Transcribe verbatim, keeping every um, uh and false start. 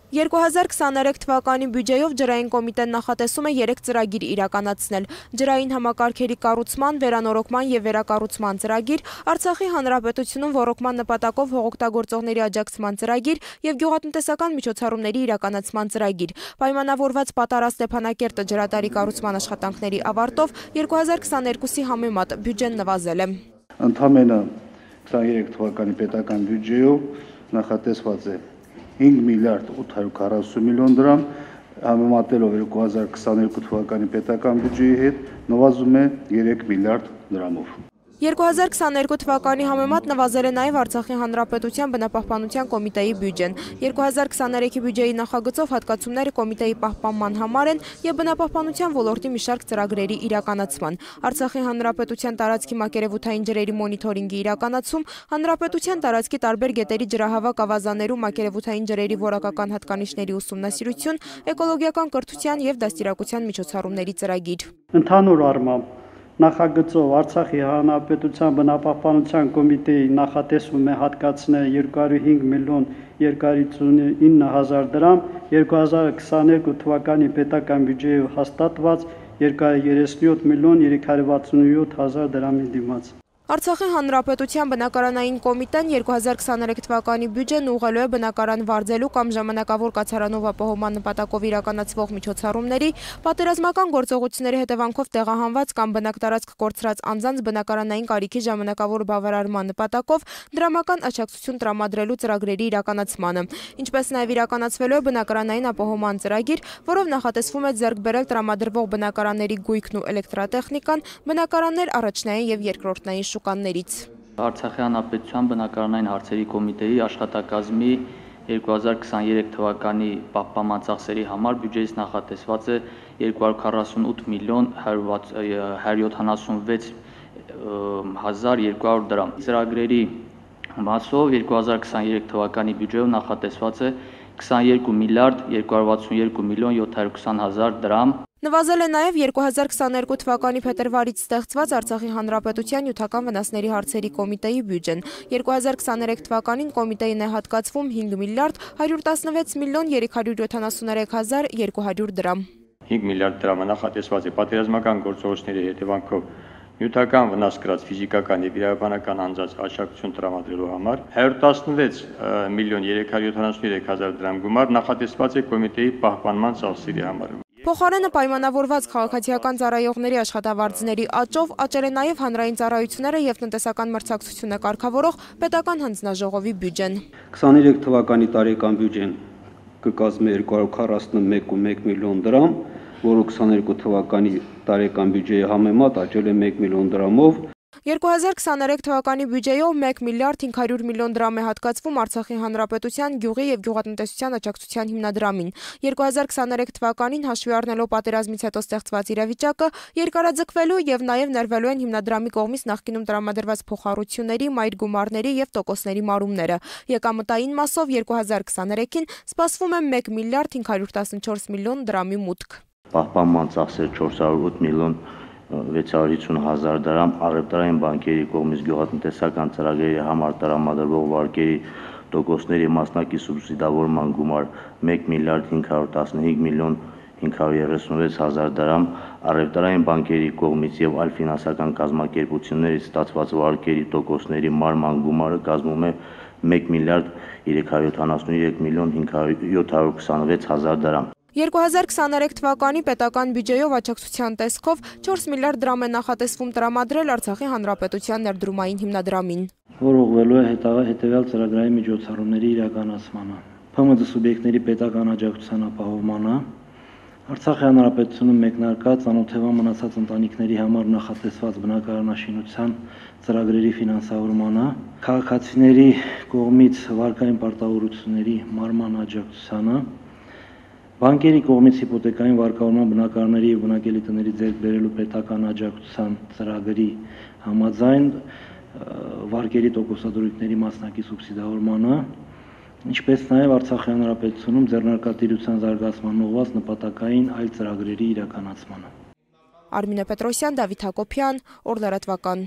երկու հազար քսաներեք թվականի բյուջեով ջրային կոմիտեն նախատեսում է երեք ծրագիր իրականացնել. ջրային համակարգերի կառուցման, վերանորոգման և վերակառուցման ծրագիր, Արցախի հանրապետությունում ոռոգման նպատակով հողօգտագործողների աջակցման ծրագիր և գյուղատնտեսական միջոցառումների իրականացման ծրագիր։ Պայմանավորված Պատարա Ստեփանակերտը ջրատարի կառուցման աշխատանքների ավարտով երկու հազար քսաներկուսի համեմատ բյուջեն նվազել է։ Ընդամենը քսաներեք թվականի պետական բյուջեով նախատեսված է հինգ միլիարդ ութ հարյուր քառասուն միլիոն դրամ, համեմատելով երկու հազար քսաներկու թվականի պետական բյուջեի հետ նվազում է երեք միլիարդ դրամով։ երկու հազար քսաներկու թվականի համեմատ նվազել է նաև Արցախի հանրապետության բնապահպանության կոմիտեի բյուջեն։ երկու հազար քսաներեքի բյուջեի նախագծով հատկացումները կոմիտեի պահպանման համար են և բնապահպանության ոլորտի մի շարք ծրագրերի իրականացման։ Արցախի հանրապետության տարածքի մակերևութային ջրերի մոնիթորինգի իրականացում, հանրապետության տարածքի տարբեր գետերի ջրահավաք ավազաներում մակերևութային ջրերի որակական հատկանիշների ուսումնասիրություն, էկոլոգիական կրթության և դաստիարակության միջոցառումների ծրագիր։ Ընդհանուր առմամբ նախագծով Արցախի հանրապետության բնապահպանության կոմիտեի նախատեսվում է հատկացնել երկու հարյուր հինգ միլիոն երկու հարյուր հիսունինը հազար դրամ, երկու հազար քսաներկու թվականի պետական բյուջեով հաստատված երկու հարյուր երեսունյոթ միլիոն երեք հարյուր վաթսունյոթ հազար դրամի դիմաց։ Արցախի հանրապետության բնակարանային կոմիտեն երկու հազար քսաներեք թվականի բյուջեն ուղղելու է բնակարան վարձելու կամ ժամանակավոր կացարանով ապահովման նպատակով իրականացվող միջոցառումների, պատերազմական գործողությունների հետևանքով տեղահանված կամ բնակտարածք կորցրած անձանց բնակարանային կարիքի ժամանակավոր բավարարման նպատակով դրամական աջակցություն տրամադրելու ծրագրերի իրականացմանը, ինչպես նաև իրականացվելու է բնակարանային ապահովման ծրագիր, որով նախատեսվում է ձեռք բերել տրամադրվող բնակարանների գույքն ու էլեկտրատեխնիկան, բնակարաններ առաջնային և երկրորդնային շուկաներից։ Արցախի հանրապետության բնակարանային հարցերի կոմիտեի աշխատակազմի երկու հազար քսաներեք թվականի պահպանման ծախսերի համար բյուջեից նախատեսված է երկու հարյուր քառասունութ միլիոն հարյուր յոթանասունվեց հազար երկու հարյուր դրամ։ Ծրագրերի մասով երկու հազար քսաներեք թվականի բյուջեով նախատեսված է քսաներկու միլիարդ երկու հարյուր վաթսունյոթ միլիոն յոթ հարյուր քսան հազար դրամ։ Նվազել է նաև երկու հազար քսաներկու թվականի փետրվարից ստեղծված Արցախի հանրապետության նյութական վնասների հարցերի կոմիտեի բյուջեն։ երկու հազար քսաներեք թվականին կոմիտեին է հատկացվում հինգ միլիարդ հարյուր տասնվեց միլիոն երեք հարյուր յոթանասուներեք հազար երկու հարյուր դրամ։ հինգ միլիարդ դրամը նախատեսված է պատերազմական գործողությունների հետևանքով նյութական վնաս կրած ֆիզիկական և իրավաբանական անձանց աջակցություն տրամադրելու համար հարյուր տասնվեց միլիոն երեք հարյուր յոթանասուներեք հազար դրամ գումար նախատեսված է կոմիտեի պահպանման ծախսերի համար։ Փոխարենը պայմանավորված քաղաքացիական ծառայողների աշխատավարձների աճով աճել է նաև հանրային ծառայությունները և տնտեսական մրցակցությունը կարգավորող պետական հանձնաժողովի բյուջեն։ քսաներեք թվականի տարեկան բյուջեն կկազմի երկու հարյուր քառասունմեկ կόμμα մեկ միլիոն դրամ, որը քսաներկու թվականի տարեկան բյուջեի համեմատ աճել է մեկ միլիոն դրամով։ երկու հազար քսաներեք թվականի բյուջեով մեկ միլիարդ հինգ հարյուր միլիոն դրամ է հատկացվում Արցախի հանրապետության գյուղի և գյուղատնտեսության աջակցության հիմնադրամին։ երկու հազար քսաներեք թվականին հաշվի առնելով պատերազմից հետո ստեղծված իրավիճակը, երկարաձգվելու և նաև ներվելու են հիմնադրամի կողմից նախկինում տրամադրված փոխառությունների, մայր գումարների և տոկոսների մարումները։ Եկամտային մասով երկու հազար քսաներեքին սպասվում է մեկ միլիարդ հինգ հարյուր տասնչորս միլիոն դրամի մուտք։ Պահպանման ծախսեր չորս հարյուր ութ միլիոն վեց հարյուր հիսուն հազար դրամ, առևտրային բանկերի կողմից գյուղատնտեսական ծրագրերի համար տրամադրվող վարկերի տոկոսների մասնակի սուբսիդավորման գումար մեկ միլիարդ հինգ հարյուր տասնհինգ միլիոն հինգ հարյուր երեսունվեց հազար դրամ, առևտրային բանկերի կողմից եւ այլ ֆինանսական կազմակերպություններից ստացված վարկերի տոկոսների մարման գումարը կազմում է մեկ միլիարդ երեք հարյուր յոթանասուներեք միլիոն յոթ հարյուր քսանվեց հազար դրամ։ երկու հազար քսաներեք թվականի պետական բյուջեով աջակցության տեսքով չորս միլիարդ դրամ է նախատեսվում տրամադրել Արցախի հանրապետության ներդրումային հիմնադրամին, որ ուղղվելու է հետևյալ ծրագրային միջոցառումների իրականացմանը։ Փ M D սուբյեկտների պետական աջակցության ապահովմանը, Արցախի հանրապետությունում մեկնարկած անօթևան մնացած ընտանիքների համար նախատեսված բնակարանաշինության ծրագրերի ֆինանսավորմանը, քաղաքացիների կողմից վարկային պարտավորությունների մարման աջակցությանը, բանկերի կողմից հիպոթեկային վարկավորման բնակարանների և բնակելի տների ձեռք բերելու պետական աջակցության ծրագրի համաձայն վարկերի տոկոսադրույքների մասնակի սուբսիդավորմանը, ինչպես նաև Արցախի հանրապետությունում ձեռնարկատիրության զարգացման ուղղված նպատակային այլ ծրագրերի իրականացմանը։ Արմինե Պետրոսյան, Դավիթ Հակոբյան, Օր լրատվական։